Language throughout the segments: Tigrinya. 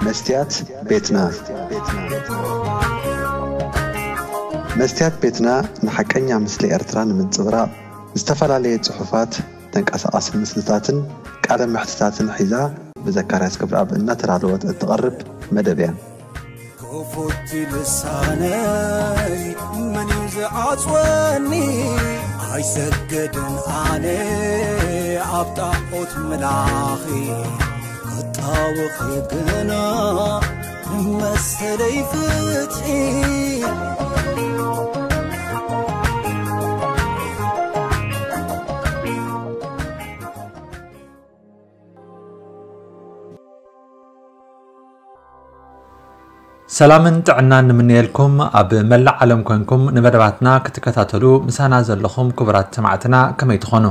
መስትያት ቤትና። መስትያት ቤትና ንሓቀኛ ምስሊ ኤርትራ ንምንጽብራቕ ዝተፈላለየ ጽሑፋት፣ ተንቀሳቓሲ ምስልታትን ቃለ መሕትታትን ሒዛ ብዘካርያስ ገብረኣብ እናተዳለወት እትቐርብ መደብ እያ። ክፉት ልሳነይ መን እዩ ዝዓጽወኒ? ኣይሰግድን ኣነ ኣብ ጣዖት ምላኺ፣ ክጣወኺ ግና መሰለይ ፍትሒ። ሰላምን ጥዕናን ንምንየልኩም። ኣብ መላእ ዓለም ኮንኩም ንመደባትና ክትከታተሉ ምሳና ዘለኹም ክቡራት ሰማዕትና ከመይ ትኾኑ?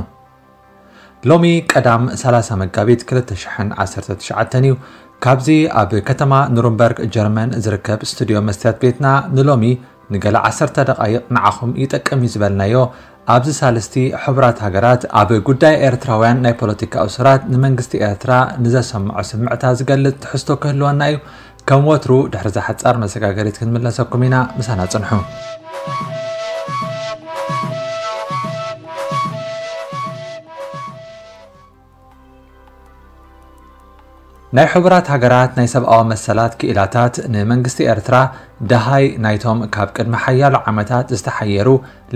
ሎሚ ቀዳም ሰላሳ መጋቢት ክልተ ሽሕን ዓሰርተ ትሽዓተን እዩ። ካብዚ ኣብ ከተማ ኑርንበርግ ጀርመን ዝርከብ ስቱድዮ መስትያት ቤትና ንሎሚ ንገለ ዓሰርተ ደቓይቕ ንዓኹም ይጠቅም እዩ ዝበልናዮ ኣብዚ ሳልስቲ ሕቡራት ሃገራት ኣብ ጉዳይ ኤርትራውያን ናይ ፖለቲካ እሱራት ንመንግስቲ ኤርትራ ንዘሰምዖ ስምዕታ ዝገልጽ ትሕዝቶ ክህልወና እዩ። ከም ወትሩ ድሕሪ እዛ ሓጻር መሰጋገሪት ክንምለሰኩም ኢና፣ ምሳና ጽንሑ። ናይ ሕቡራት ሃገራት ናይ ሰብኣዊ መሰላት ክኢላታት ንመንግስቲ ኤርትራ ደሃይ ናይቶም ካብ ቅድሚ ሓያሎ ዓመታት ዝተሓየሩ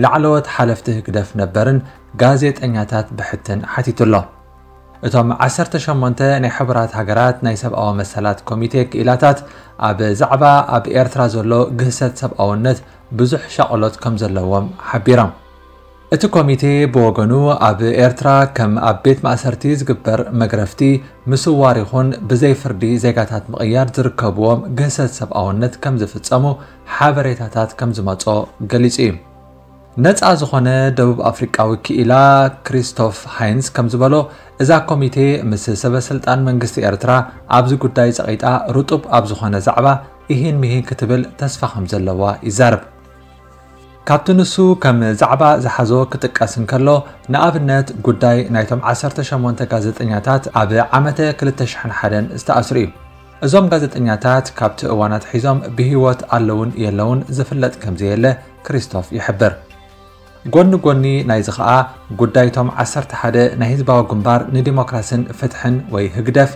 ላዕለዎት ሓለፍቲ ህግደፍ ነበርን ጋዜጠኛታት ብሕትን ሓቲቱ ኣሎ። እቶም ዓሰርተ ሸሞንተ ናይ ሕቡራት ሃገራት ናይ ሰብኣዊ መሰላት ኮሚቴ ክኢላታት ኣብ ዛዕባ ኣብ ኤርትራ ዘሎ ግህሰት ሰብኣውነት ብዙሕ ሻቕሎት ከም ዘለዎም ሓቢሮም። እቲ ኮሚቴ ብወገኑ ኣብ ኤርትራ ከም ኣብ ቤት ማእሰርቲ ዝግበር መግረፍቲ፣ ምስዋር ይኹን ብዘይ ፍርዲ ዜጋታት ምቕያር ዝርከብዎም ግህሰት ሰብኣውነት ከም ዝፍጸሙ ሓበሬታታት ከም ዝመጾ ገሊጹ እዩ። ነጻ ዝኾነ ደቡብ ኣፍሪቃዊ ክኢላ ክሪስቶፍ ሃይንስ ከም ዝበሎ፣ እዛ ኮሚቴ ምስ ሰበ ስልጣን መንግስቲ ኤርትራ ኣብዚ ጉዳይ ጸቒጣ ርጡብ ኣብ ዝኾነ ዛዕባ ኢሂን ምሂን ክትብል ተስፋ ከም ዘለዋ ይዛረብ። ካብቲ ንሱ ከም ዛዕባ ዝሓዞ ክጥቀስ እንከሎ፣ ንኣብነት ጉዳይ ናይቶም ዓሰርተ ሸሞንተ ጋዜጠኛታት ኣብ ዓመተ ክልተ ሽሕን ሓደን ዝተኣስሩ እዩ። እዞም ጋዜጠኛታት ካብቲ እዋን ኣትሒዞም ብህይወት ኣለውን የለውን ዝፍለጥ ከም ዘየለ ክሪስቶፍ ይሕብር። ጎኒ ጎኒ ናይዚ ኸኣ፣ ጉዳይቶም ዓሰርተ ሓደ ናይ ህዝባዊ ግንባር ንዲሞክራስን ፍትሕን ወይ ህግደፍ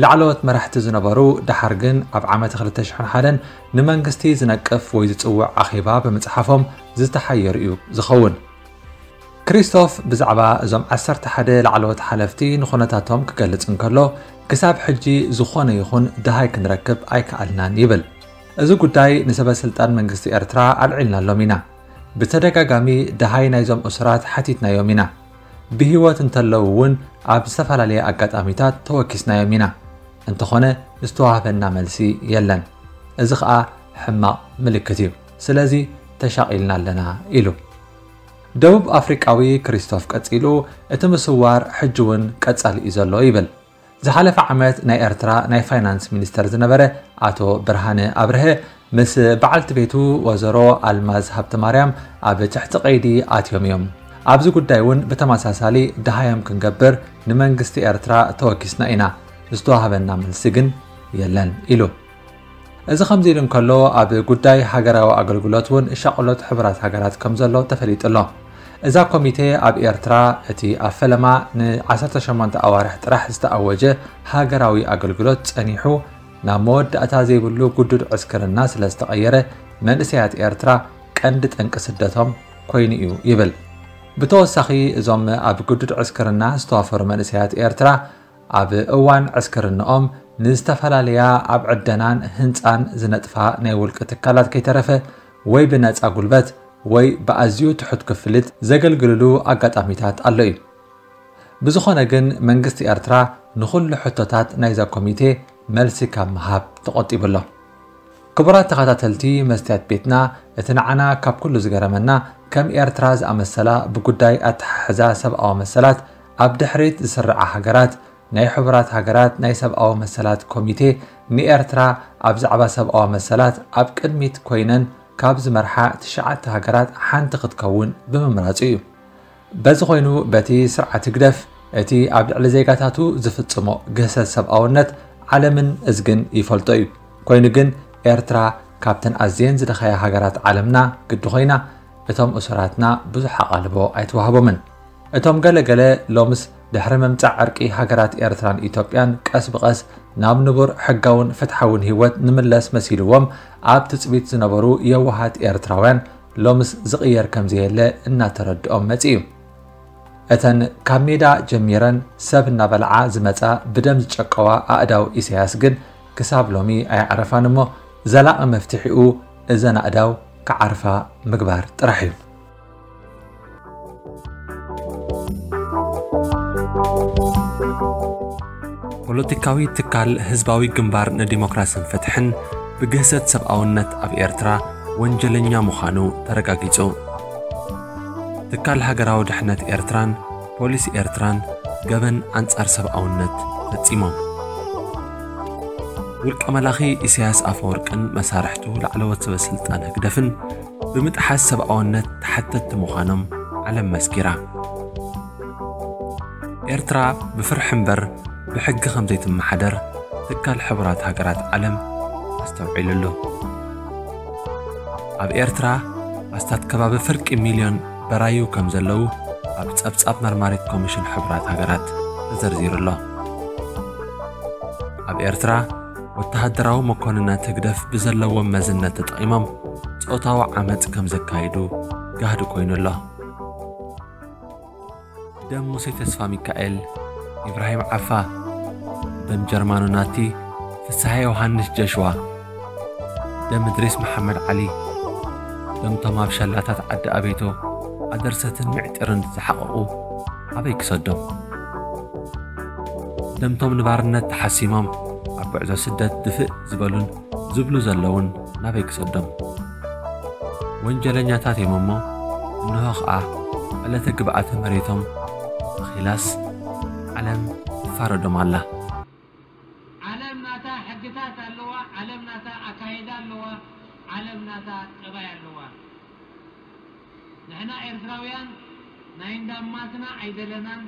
ላዕለዎት መራሕቲ ዝነበሩ፣ ደሓር ግን ኣብ ዓመተ ክልተ ሽሕን ሓደን ንመንግስቲ ዝነቅፍ ወይ ዝጽውዕ ኣኼባ ብምጽሓፎም ዝተሓየሩ እዩ ዝኸውን። ክሪስቶፍ ብዛዕባ እዞም ዓሰርተ ሓደ ላዕለዎት ሓለፍቲ ንኹነታቶም ክገልጽ እንከሎ፣ ክሳብ ሕጂ ዝኾነ ይኹን ደሃይ ክንረክብ ኣይከኣልናን ይብል። እዚ ጉዳይ ንሰበ ስልጣን መንግስቲ ኤርትራ ኣልዒልናሎም ኢና። ብተደጋጋሚ ደሃይ ናይዞም እሱራት ሓቲትናዮም ኢና። ብህይወት እንተለዉ እውን ኣብ ዝተፈላለየ ኣጋጣሚታት ተወኪስናዮም ኢና። እንተኾነ ዝተዋህበና መልሲ የለን። እዚ ኸኣ ሕማቕ ምልክት እዩ። ስለዚ ተሻቒልና ኣለና ኢሉ። ደቡብ ኣፍሪቃዊ ክሪስቶፍ ቀጺሉ፣ እቲ ምስዋር ሕጂ እውን ቀጻሊ እዩ ዘሎ ይብል። ዝሓለፈ ዓመት ናይ ኤርትራ ናይ ፋይናንስ ሚኒስተር ዝነበረ ኣቶ ብርሃነ ኣብርሀ ምስ በዓልቲ ቤቱ ወዘሮ ኣልማዝ ሃብተማርያም ኣብ ትሕቲ ቀይዲ ኣትዮም እዮም። ኣብዚ ጉዳይ እውን ብተመሳሳሊ ደሃዮም ክንገብር ንመንግስቲ ኤርትራ ተወኪስና ኢና፣ ዝተዋህበና መልሲ ግን የለን ኢሉ። እዚ ከምዚ ኢሉ እንከሎ፣ ኣብ ጉዳይ ሃገራዊ ኣገልግሎት እውን ሻቕሎት ሕቡራት ሃገራት ከም ዘሎ ተፈሊጡ ኣሎ። እዛ ኮሚቴ ኣብ ኤርትራ እቲ ኣብ ፈለማ ን ዓሰርተ ሸሞንተ ኣዋርሕ ጥራሕ ዝተኣወጀ ሃገራዊ ኣገልግሎት ጸኒሑ ናብ መወዳእታ ዘይብሉ ግዱድ ዕስክርና ስለ ዝተቐየረ፣ መንእሰያት ኤርትራ ቀንዲ ጠንቂ ስደቶም ኮይኑ እዩ ይብል። ብተወሳኺ፣ እዞም ኣብ ግዱድ ዕስክርና ዝተዋፈሩ መንእሰያት ኤርትራ፣ ኣብ እዋን ዕስክርንኦም ንዝተፈላለያ ኣብ ዕደናን ህንጻን ዝነጥፋ ናይ ውልቂ ትካላት ከይተረፈ ወይ ብነጻ ጉልበት ወይ ብኣዝዩ ትሑት ክፍሊት ዘገልግልሉ ኣጋጣሚታት ኣሎ እዩ። ብዝኾነ ግን መንግስቲ ኤርትራ ንኹሉ ሕቶታት ናይዛ ኮሚቴ መልሲ ካብ ምሃብ ተቖጢቡ ኣሎ። ክቡራት ተኸታተልቲ መስትያት ቤትና፣ እቲ ንዓና ካብ ኩሉ ዝገረመና ከም ኤርትራ ዝኣመሰላ ብጉዳይ ኣተሓሕዛ ሰብኣዊ መሰላት ኣብ ድሕሪት ዝስርዓ ሃገራት ናይ ሕቡራት ሃገራት ናይ ሰብኣዊ መሰላት ኮሚቴ ንኤርትራ ኣብ ዛዕባ ሰብኣዊ መሰላት ኣብ ቅድሚት ኮይነን ካብ ዝመርሓ ትሽዓተ ሃገራት ሓንቲ ክትከውን ብምምራጹ እዩ። በዚ ኮይኑ በቲ ስርዓት ህግደፍ እቲ ኣብ ልዕሊ ዜጋታቱ ዝፍጽሞ ግህሰት ሰብኣውነት ዓለምን እዝግን ይፈልጦ እዩ። ኮይኑ ግን ኤርትራ ካብተን ኣዝየን ዝደኸያ ሃገራት ዓለምና ግዲ ኮይና፣ እቶም እሱራትና ብዙሕ ኣቓልቦ ኣይተዋህቦምን። እቶም ገለ ገለ ሎምስ ድሕሪ ምምጻእ ዕርቂ ሃገራት ኤርትራን ኢትዮጵያን ቀስ ብቐስ ናብ ንቡር ሕጋውን ፍትሓውን ህይወት ንምለስ መሲልዎም ኣብ ትጽቢት ዝነበሩ የዋሃት ኤርትራውያን ሎምስ ዝቕየር ከም ዘየለ እናተረድኦም መጺኡ። እተን ካብ ሜዳ ጀሚረን ሰብ እናበልዓ ዝመጻ ብደም ዝጨቀዋ ኣእዳው ኢሳያስ ግን ክሳብ ሎሚ ኣየዕረፋን እሞ ዘላቒ መፍትሒኡ እዘን ኣእዳው ክዓርፋ ምግባር ጥራሕ እዩ። ፖለቲካዊ ትካል ህዝባዊ ግንባር ንዲሞክራስን ፍትሕን ብግህሰት ሰብኣውነት ኣብ ኤርትራ ወንጀለኛ ምዃኑ ተረጋጊጹ። ትካል ሃገራዊ ድሕነት ኤርትራን ፖሊስ ኤርትራን ገበን ኣንጻር ሰብኣውነት ፈጺሞም። ውልቀ መላኺ ኢሳያስ ኣፈወርቅን መሳርሕቱ ላዕለዎት ሰበ ስልጣን ህግደፍን ብምጥሓስ ሰብኣውነት ተሓተትቲ ምዃኖም ዓለም መስኪራ። ኤርትራ ብፍርሒ እምበር ብሕጊ ከም ዘይትመሓደር ትካል ሕቡራት ሃገራት ዓለም ኣስተውዒሉ ኣሎ። ኣብ ኤርትራ ኣስታት ከባቢ ፍርቂ ሚልዮን በራዩ ከም ዘለዉ ኣብ ጸብጻብ መርማሪት ኮሚሽን ሕቡራት ሃገራት ተዘርዚሩ ኣሎ። ኣብ ኤርትራ ወተሃደራዊ መኮንናት ህግደፍ ብዘለዎም መዝነት ተጠቒሞም ጾታዊ ዓመጽ ከም ዘካይዱ ጋህዲ ኮይኑ ኣሎ። ደም ሙሴ ተስፋ ሚካኤል፣ ኢብራሂም ዓፋ፣ ደም ጀርማኖ ናቲ፣ ፍስሃ ዮሃንስ ጀሽዋ፣ ደም እድሪስ መሓመድ ዓሊ፣ ደምቶም ኣብ ሸላታት ዓዲ ኣቤቶ ኣደርሰትን ምዕጢርን ዝሓቐቑ ኣበይ ክሰዶም? ደምቶም ንባርነት ተሓሲሞም ኣብ ጉዕዞ ስደት ድፍእ ዝበሉን ዝብሉ ዘለውን ናበይ ክሰዶም? ወንጀለኛታት እዮም እሞ፣ እንሆ ኸኣ ዕለተ ግብኣተ መሬቶም ኣኺላስ ዓለም ትፋረዶም ኣላ። ዓለም ናታ ሕግታት ኣለዋ፣ ዓለም ናታ ኣካይዳ ኣለዋ፣ ዓለም ናታ ጠባይ ኣለዋ። ንሕና ኤርትራውያን ናይ እንዳማትና ኣይደለናን።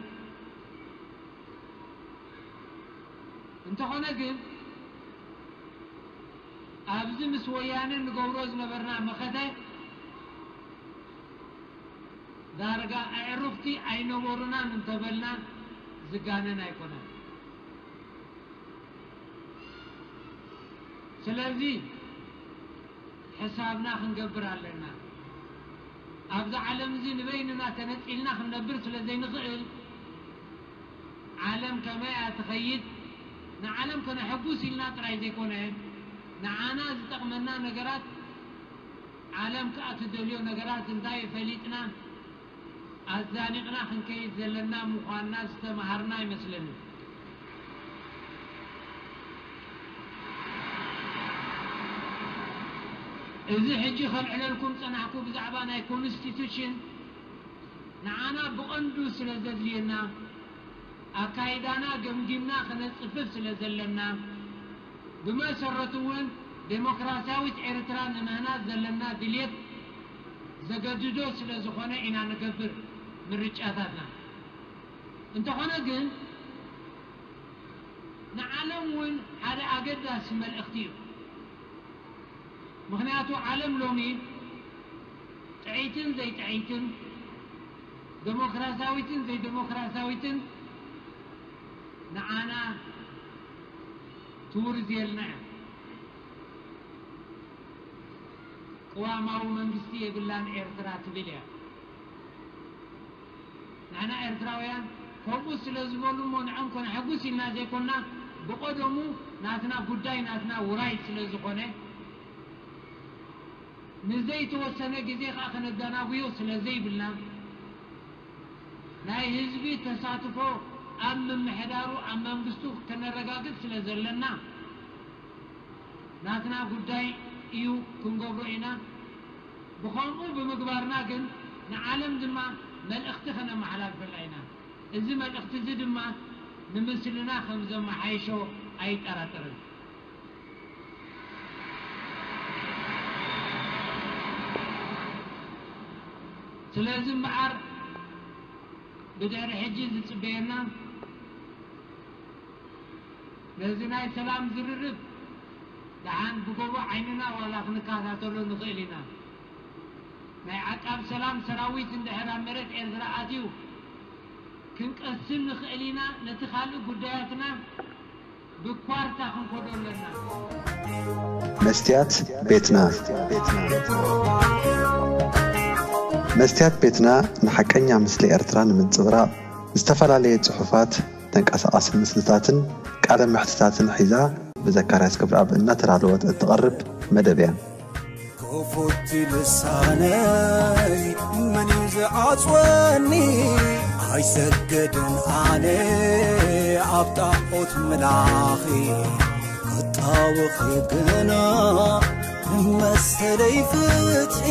እንተኾነ ግን ኣብዚ ምስ ወያነ ንገብሮ ዝነበርና መኸተ ዳርጋ ኣዕሩኽቲ ኣይነበሩናን እንተበልና ዝጋነን ኣይኮነን። ስለዚ ሕሳብና ክንገብር ኣለና። ኣብዚ ዓለም እዚ ንበይንና ተነጺልና ክንነብር ስለ ዘይንኽእል፣ ዓለም ከመይ እያ ትኸይድ፣ ንዓለም ከነሐጉስ ኢልና ጥራይ ዘይኮነ፣ ንዓና ዝጠቕመና ነገራት፣ ዓለም ከኣ ትደልዮ ነገራት እንታይ እዩ ፈሊጥና፣ ኣዛኒቕና ክንከይድ ዘለና ምዃንና ዝተምሃርና ይመስለኒ። እዚ ሕጂ ከልዕለልኩም ጸናሕኩ ብዛዕባ ናይ ኮንስቲቱሽን ንዓና ብቐንዱ ስለ ዘድልየና፣ ኣካይዳና ገምጊምና ክነጽፍፍ ስለ ዘለና፣ ብመሰረቱ እውን ዴሞክራሲያዊት ኤርትራ ንምህናጽ ዘለና ድልየት ዘገድዶ ስለ ዝኾነ ኢና ንገብር ምርጫታትና። እንተኾነ ግን ንዓለም እውን ሓደ ኣገዳሲ መልእኽቲ እዩ። ምኽንያቱ ዓለም ሎሚ ጥዕይትን ዘይጥዕይትን፣ ደሞክራሲያዊትን ዘይደሞክራሲያዊትን ንዓና ትውርዝየልና እያ። ቅዋማዊ መንግስቲ የብላን ኤርትራ ትብል እያ። ንሕና ኤርትራውያን ከምኡ ስለ ዝበሉ እሞ ንዕኦም ከነሐጉስ ኢልና ዘይኮንና፣ ብቐደሙ ናትና ጉዳይ ናትና ውራይ ስለ ዝኾነ፣ ንዘይተወሰነ ግዜ ከኣ ከነደናጉዮ ስለ ዘይብልና፣ ናይ ህዝቢ ተሳትፎ ኣብ ምምሕዳሩ ኣብ መንግስቱ ከነረጋግጽ ስለ ዘለና፣ ናትና ጉዳይ እዩ ክንገብሮ ኢና። ብኸምኡ ብምግባርና ግን ንዓለም ድማ መልእኽቲ ከነመሓላልፈላ ኢና። እዚ መልእኽቲ እዚ ድማ ንምስልና ከም ዘመሓይሾ ኣይጠራጠርን። ስለዚ እምበኣር ብድሕሪ ሕጂ ዝጽበየና ነዚ ናይ ሰላም ዝርርብ ደሓን ብጎቦ ዓይንና ዋላ ክንከታተሎ ንኽእል ኢና። ናይ ዓቃብ ሰላም ሰራዊት እንድሕር ኣብ መሬት ኤርትራ ኣትዩ ክንቀስን ንኽእል ኢና። ነቲ ካልእ ጉዳያትና ብኳርታ ክንኮዶ ኣለና። መስትያት ቤትና። መስትያት ቤትና ንሓቀኛ ምስሊ ኤርትራ ንምንጽብራቕ ዝተፈላለየ ጽሑፋት፣ ተንቀሳቓሲ ምስልታትን ቃለ መሕትታትን ሒዛ ብዘካርያስ ክብረኣብ እናተዳለወት እትቐርብ መደብ እያ። ክፉት ልሳነይ መን እዩ ዝዓጽወኒ? ኣይሰግድን ኣነ ኣብ ጣዖት ምላኺ ክጣወኺ ግና መሰለይ ፍትሒ